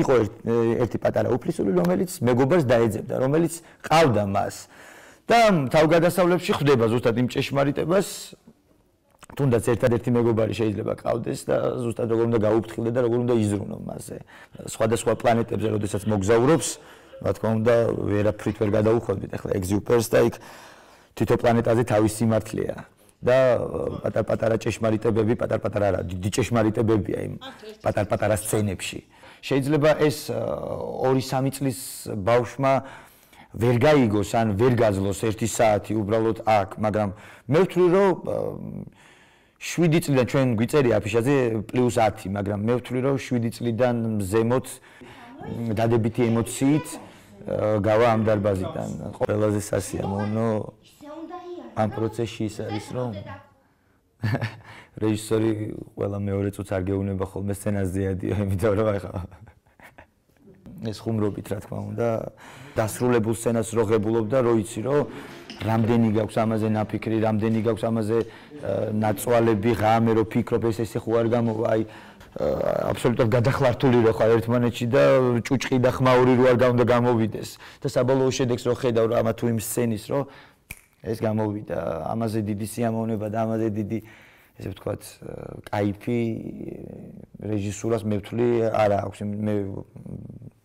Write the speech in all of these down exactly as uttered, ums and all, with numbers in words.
იყო ერთი პატარა უფლისული, რომელიც მეგობარს დაეძებდა, რომელიც ყავდა მას. და თავგადასავლებში ხვდება ზუსტად იმ ჭეშმარიტებას, თუნდაც ერთადერთი მეგობარი შეიძლება ყავდეს და ზუსტად როგორ უნდა გაუფრთხილდე და როგორ უნდა იზრუნო მასზე. სხვადასხვა პლანეტებზე, როდესაც მოგზაურობს, რა თქმა უნდა, ვერაფრით ვერ გადაუხვევდით ახლა ეგზიუპერს და იქ თითო პლანეტაზე თავის სიმართლეა. და პატარ-პატარა ჭეშმარიტებები, პატარ-პატარა რა, დიდი ჭეშმარიტებებია იმ პატარ-პატარა სცენებში. შეიძლება ეს ორი სამი წლის ბავშვმა ვერ გაიგოს ან ვერ გაძლოს ერთი საათი უბრალოდ აქ, მაგრამ მე ვთვლი რომ შვიდი წლიდან ჩვენ გვიწერია აფიშაზე პლუს ათი, მაგრამ მე ვთვლი რომ შვიდი წლიდან ზემოთ დადებითი ემოციით გავა ამ დარბაზიდან. ყველაზე სასიამოვნო ამ პროცესში ის არის რომ რეჟისორი ყველა მეორე წუთს არ გეუბნება ხოლმე სცენას ზიადიო, იმიტომ რომ ახლა ეს ხუმრობით რა თქმა უნდა დასრულებულ სცენას რო ღებულობ და რო იცი რომ რამდენი გაქვს ამაზე ნაფიქრი, რამდენი გაქვს ამაზე ნაწვალები, ღამე რო ფიქრობ ეს ესე ხო არ გამოვა, აი აბსოლუტურად გადახლართული რო ხარ ერთმანეთში და ჭუჭყი და ხმაური რო არ უნდა გამოვიდეს და საბოლოო შედეგს რო ხედავ რა ამა თუ იმ სცენის რო ეს გამოვიდა, ამაზე დიდი სიამოვნება და ამაზე დიდი ესე ვთქვათ, кайფი რეჟისურას მე ვთვლი არა აქვს, მე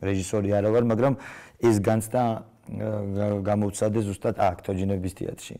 რეჟისორი არა ვარ, მაგრამ ეს განცდა გამოვცადე ზუსტად აქ თოჯინების თეატრში.